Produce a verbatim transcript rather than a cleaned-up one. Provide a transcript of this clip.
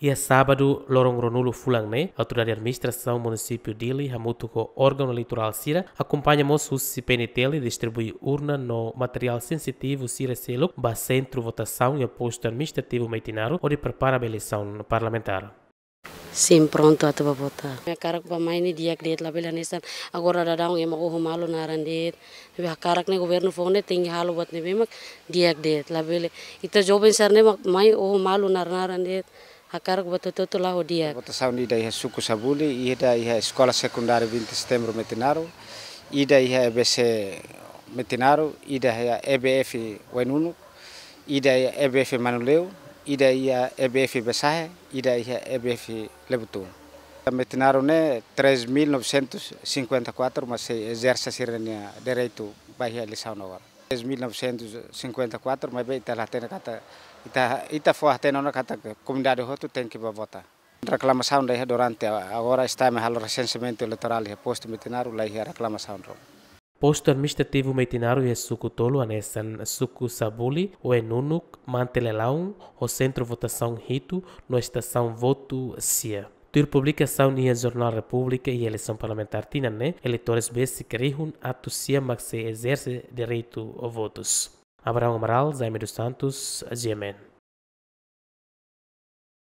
Iha sábadu, loron ruanulu fulan ne'e, Autoridade Administrasaun Munisípiu Dili hamutuk ho órgaun eleitorál sira akompaña mós husi P N T L distribui urna no materiál sensitivu sira seluk ba sentru votasaun iha postu administrativu Metinaro hodi prepara ba eleisaun parlamentár. Sim, prontu atu ba vota. Ha'u hakarak ba mai ne'e di'ak de'it, labele hanesan agora daudaun ema oho malu naran de'it. Ne'ebé hakarak ne'e governu foun ne'e tenke halo buat ne'ebé mak di'ak de'it, labele. Ita joven sira ne'e mak mai oho malu naran-naran de'it. Hakarak buat hotu-hotu la'o di'ak. Votasaun ida iha suku Sabuli, ida iha Eskola Sekundária vinte de Setembro Metinaro, ida iha E B C Metinaro, ida iha E B F Oe-Nunuk, ida iha E B F Manuleu, ida iha E B F Besahe, ida iha E B F Lebutun. Metinaro ne'e três mil novecentos e cinquenta e quatro mak sei ezerse sira-nia direitu ba iha eleisaun agora. Três mil novecentos e cinquenta e quatro, maibé ita la hatene katak, ita, ita fó hatene ona katak komunidade hotu tenke ba vota. Reklamasaun la iha durante a-, agora STAE mak halo resenseamentu eleitorál iha postu Metinaro, la iha reklamasaun ruma. Postu administrativu Metinaro iha suku tolu hanesan suku Sabuli, Oe-Nunuk, Manti Lelaun, ho sentru votasaun hitu no estasaun votu sia. Tuir publikasaun iha Jornál Repúblika iha eleisaun parlamentár tinan ne'e, eleitores besik rihun atus sia mak sei ezerse direitu votus. Abraão Amaral, Jaime dos Santos, G M N.